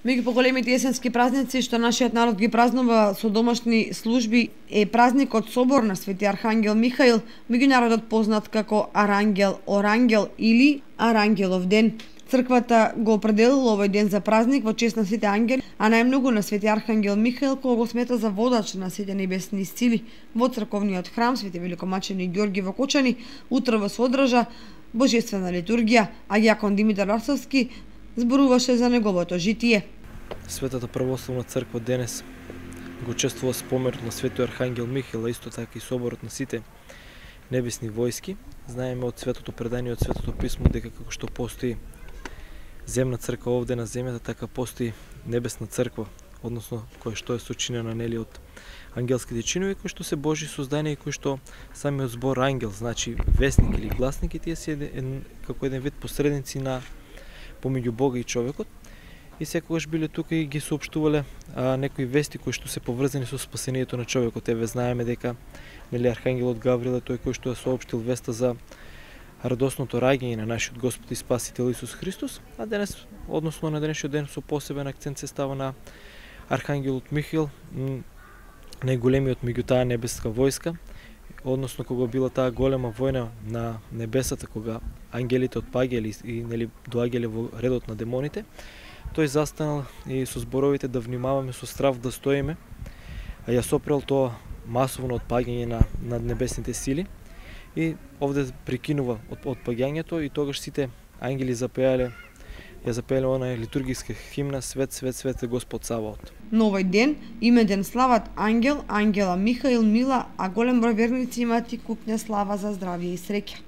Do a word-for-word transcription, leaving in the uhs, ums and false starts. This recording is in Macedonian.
Меѓу поголемите есенски празници што нашиот народ ги празнува со домашни служби е празникот Собор на Свети Архангел Михаил, меѓународот познат како Арангел Орангел или Арангелов ден. Црквата го определила овој ден за празник во чест на сите ангели, а најмногу на Свети Архангел Михаил, кој го смета за водач на сите небесни сили. Во црковниот храм Свети Великомачени Ѓорги во Кочани утрово се одржа божествена литургија, а јакон Димитар Арсовски зборуваше за неговото житие. Светата православна црква денес го чествува споменот на Свети Архангел Михаил, а исто така и соборот на сите небесни војски. Знаеме од светото предание, од светото писмо дека како што постои земна црква овде на земјата, така постои небесна црква, односно која што е сочинена нели од ангелските чинови, кои што се Божи создание и кои што самиот збор ангел, значи вестник или гласник, и тие се еден, како еден вид посредници на помеѓу Бога и човекот, и секогаш биле тука и ги соопштувале а, некои вести кои што се поврзани со спасението на човекот. Еве знаеме дека нели архангелот Гаврил е тој кој што ја соопштил веста за радосното раѓање на нашиот Господ и Спасител Исус Христос, а денес, односно на денешниот ден, со посебен акцент се става на архангелот Михаил, најголемиот меѓу таа небеска војска, односно кога била таа голема војна на небесата, кога ангелите отпаѓале и нели доаѓале во редот на демоните, тој застанал и со зборовите да внимаваме со страв да стоиме, а ја сопрел тоа масовно отпаѓање на над небесните сили и овде прекинува од отпаѓањето, и тогаш сите ангели запеале ја запеале онаа литургиска химна Свет, свет, свет е Господ Саваот. На овој ден име ден слават Ангел, Ангела, Михаил, Мила, а голем број верници имаат и купна слава за здравје и среќа.